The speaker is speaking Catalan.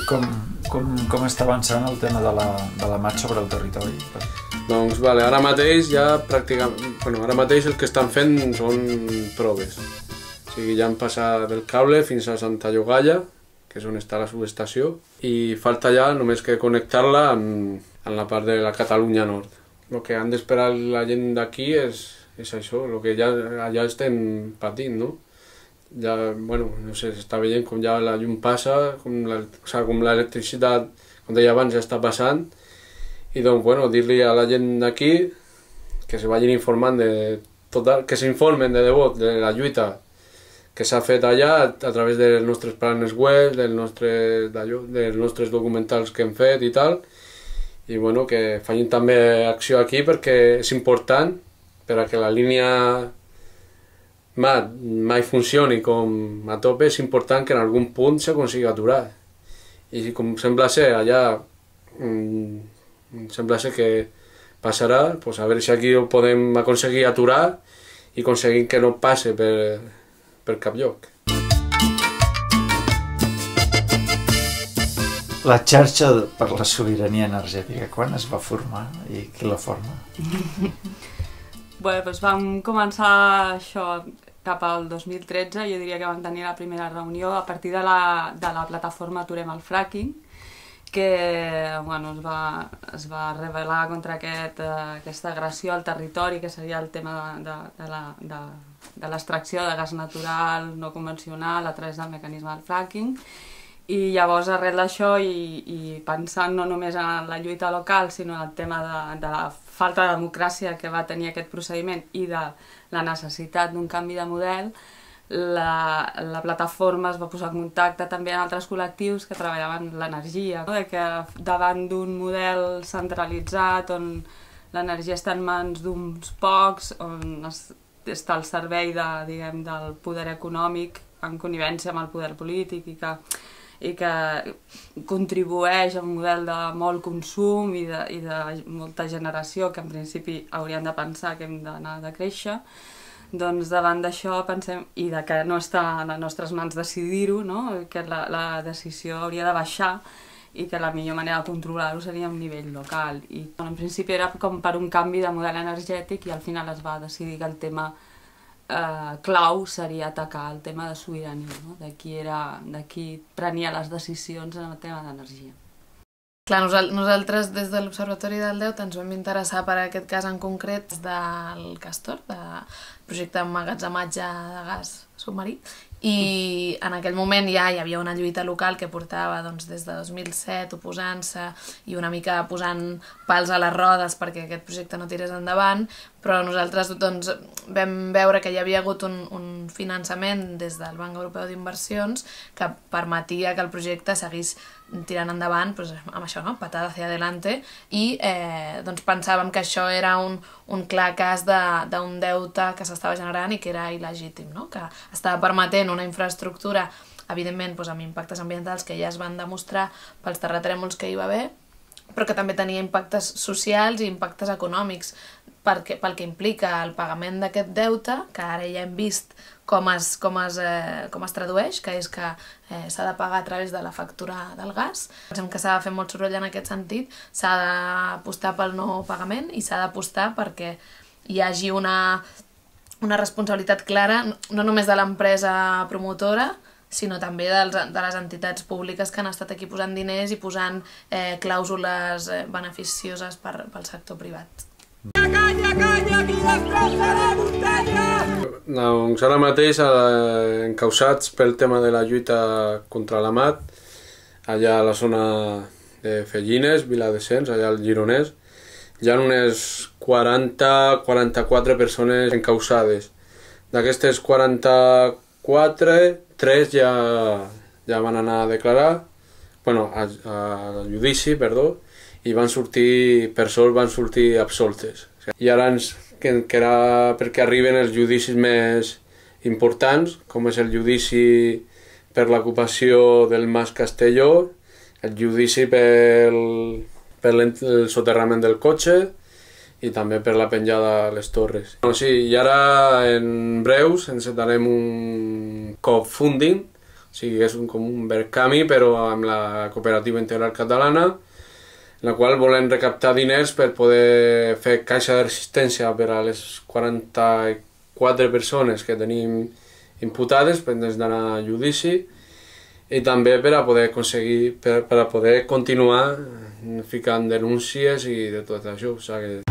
com està avançant el tema de la mat sobre el territori? Doncs ara mateix ja pràcticament... Ara mateix el que estan fent són proves. O sigui, ja han passat del cable fins a Santa Llogaia, que és on està la subestació, i falta ja només que connectar-la en la part de la Catalunya Nord. El que han d'esperar la gent d'aquí és això, el que ja allà estem patint, no? Ja, no sé, s'està veient com ja la llum passa, com l'electricitat, com deia abans, ja està passant, i doncs, dir-li a la gent d'aquí que se vagin informant que s'informen de debò de la lluita que s'ha fet allà a través dels nostres planes web, dels nostres documentals que hem fet i tal, i que facin també acció aquí perquè és important per a que la línia mai funcioni com a tope, és important que en algun punt s'aconsigui aturar. I com sembla ser allà, sembla ser que passarà, a veure si aquí ho podem aconseguir aturar i aconseguir que no passe per cap lloc. La xarxa per la sobirania energètica, quan es va formar i qui la forma? Vam començar això cap al 2013, jo diria que vam tenir la primera reunió a partir de la plataforma Aturem el Fracking, que es va rebel·lar contra aquesta agressió al territori, que seria el tema de l'extracció de gas natural no convencional a través del mecanisme del fracking. I llavors, arrel d'això, i pensant no només en la lluita local, sinó en el tema de la falta de democràcia que va tenir aquest procediment i de la necessitat d'un canvi de model, la plataforma es va posar en contacte també amb altres col·lectius que treballaven l'energia, que davant d'un model centralitzat on l'energia està en mans d'uns pocs, on està al servei del poder econòmic en connivència amb el poder polític i que contribueix a un model de molt consum i de molta generació que en principi hauríem de pensar que hem d'anar de créixer, doncs davant d'això pensem, i que no està a les nostres mans decidir-ho, que la decisió hauria de baixar i que la millor manera de controlar-ho seria a un nivell local. I en principi era com per un canvi de model energètic i al final es va decidir que el tema clau seria atacar el tema de sobirania, de qui prenia les decisions en el tema d'energia. Clar, nosaltres des de l'Observatori del Delta ens vam interessar per aquest cas en concret del Castor, del projecte d'emmagatzematge de gas submarí, i en aquell moment ja hi havia una lluita local que portava des de 2007 oposant-se i una mica posant pals a les rodes perquè aquest projecte no tirés endavant, però nosaltres vam veure que hi havia hagut un finançament des del Banc Europeu d'Inversions que permetia que el projecte seguís tirant endavant amb això, patada hacia adelante, i pensàvem que això era un clar cas d'un deute que s'estava generant i que era il·legítim, que estava permetent una infraestructura, evidentment amb impactes ambientals que ja es van demostrar pels terratrèmols que hi va haver, però que també tenia impactes socials i impactes econòmics pel que implica el pagament d'aquest deute, que ara ja hem vist com es tradueix, que és que s'ha de pagar a través de la factura del gas. Pensem que s'ha de fer molt soroll en aquest sentit, s'ha d'apostar pel no pagament i s'ha d'apostar perquè hi hagi una responsabilitat clara, no només de l'empresa promotora, sinó també de les entitats públiques que han estat aquí posant diners i posant clàusules beneficioses pel sector privat. Calla, calla, qui destrossa la muntanya! Doncs ara mateix, encausats pel tema de la lluita contra la mat, allà a la zona de Fellines, Viladescens, allà al Gironès, hi ha unes 40-44 persones encausades. D'aquestes 44, 3 ja van anar a declarar, a judici, perdó, i van sortir, per sort, van sortir absoltes. I ara ens quedarà perquè arriben els judicis més importants, com és el judici per l'ocupació del Mas Castelló, el judici per el soterrament del cotxe i també per la penjada a les torres. I ara en breus encetarem un crowdfunding, O sigui, és com un Verkami, però amb la Cooperativa Integral Catalana, en la qual volen recaptar diners per poder fer caixa de resistència per a les 44 persones que tenim imputades pendents d'anar a judici, i també per a poder aconseguir, per a poder continuar ficant denúncies i de tot això. O sigui,